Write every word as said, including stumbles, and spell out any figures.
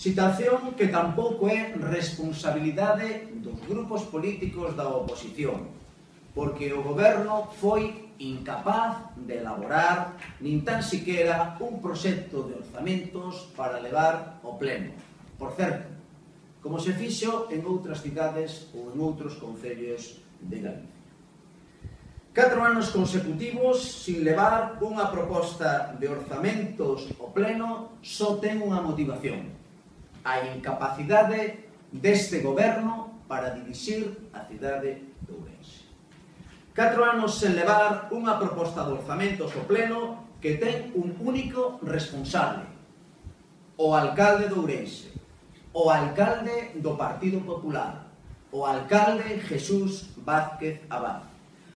Situación que tampouco é responsabilidade dos grupos políticos da oposición, porque o goberno foi incapaz de elaborar nin tan siquiera un proxecto de orzamentos para levar ao pleno. Por certo, como se fixo en outras cidades ou en outros concellos de Galicia. Catro anos consecutivos sin levar unha proposta de orzamentos ao pleno só ten unha motivación: a incapacidade deste goberno para dirixir a cidade de Ourense. Catro anos sen levar unha proposta de orzamentos ao pleno que ten un único responsable: o alcalde de Ourense, o alcalde do Partido Popular, o alcalde Jesús Vázquez Abad.